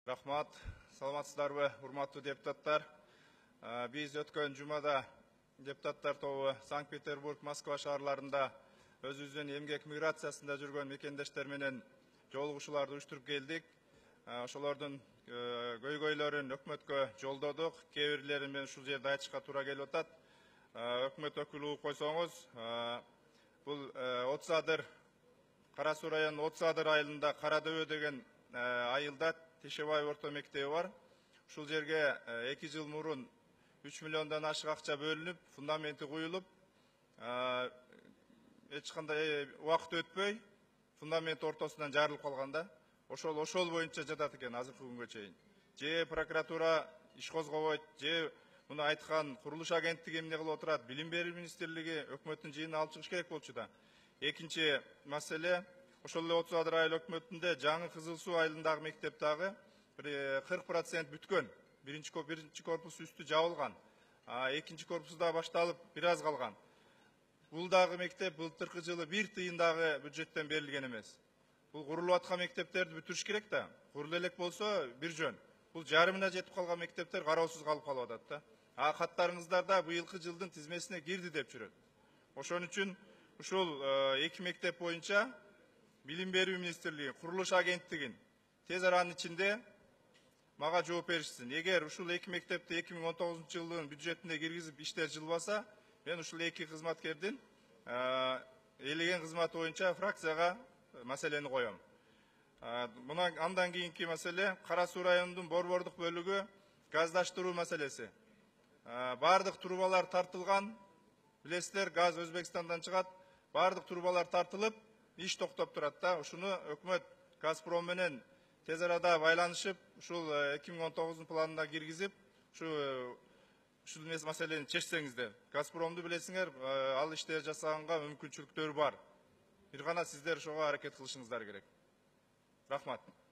Рахмат, саламатсыздарбы, урматтуу депутаттар. Биз өткөн жумада депутаттар тобу Санкт-Петербург, Москва шаарларында өзүбүздүн эмгек миграциясында жүргөн мекендештер менен жолугушууларды уюштуруп келдик. Ошолордун көйгөйлөрүн өкмөткө жолдодук. Кээ бирлерин мен ушул жерде айтышка туура келип атат. Өкмөт өкүлү угуп койсоңуз, бул 30 адыр Кара Суу районунун 30 адыр айылында Кара Дөбө деген айылда Тешебай орто мектеби бар. Ушул жерге 2 жыл мурун 3 миллиондон ашык акча бөлүнүп, фундаменти куюлуп, эч кандай убакыт өтпөй, фундамент ортосунан жарылып калган да. Ошол боюнча жатат экен азыркы күнгө чейин. Же прокуратура иш козгобойт, же муну айткан курулуш агенттиги эмне кылып отурат, Билим берүү министрлиги өкмөттүн жыйынына алып чыгыш керек болчу да. Экинчи маселе, ошол эле 30 адыр айыл өкмөтүндө жаңы Кызыл Суу айылындагы мектептагы 40% бүткөн. Биринчи корпус үстү жабылган. Экинчи корпусу да башталып, бир аз калган. Бул дагы мектеп былтыркы жылы 1 тыйын дагы бюджеттен берилген эмес. Бул курулуп аткан мектептерди бүтүрүш керек да. Курулу элек болсо бир жөн. Бул жарымына жетип калган мектептер кароосуз калып атат да. Каттарыңыздарда быйылкы жылдын тизмесине кирди деп жүрөт. Ошон үчүн ушул 2 мектеп боюнча Билим берүү министрлиги, курулуш агенттигин тез аранын ичинде мага жооп беришсин. Эгер ушул 2 мектепти 2019 жылдын бюджетине киргизип иштер жылбаса, мен ушул 2 кызматкердин элеген кызматы боюнча фракцияга маселени коем. Андан кийинки маселе Кара Суу районунун борбордук бөлүгү газдаштыруу маселеси. Бардык трубалар тартылган, билесиздер, газ Өзбекстандан чыгат, бардык трубалар тартылып, иш токтоп турат да. Ушуну өкмөт Газпром менен тез арада байланышып, ушул 2019 планына киргизип, ушул маселени чечсеңиздер. Газпромду билесиңер, ал иштер жасаганга мүмкүнчүлүктөр бар. Бир гана сиздер ошого аракет кылышыңыздар керек. Рахмат.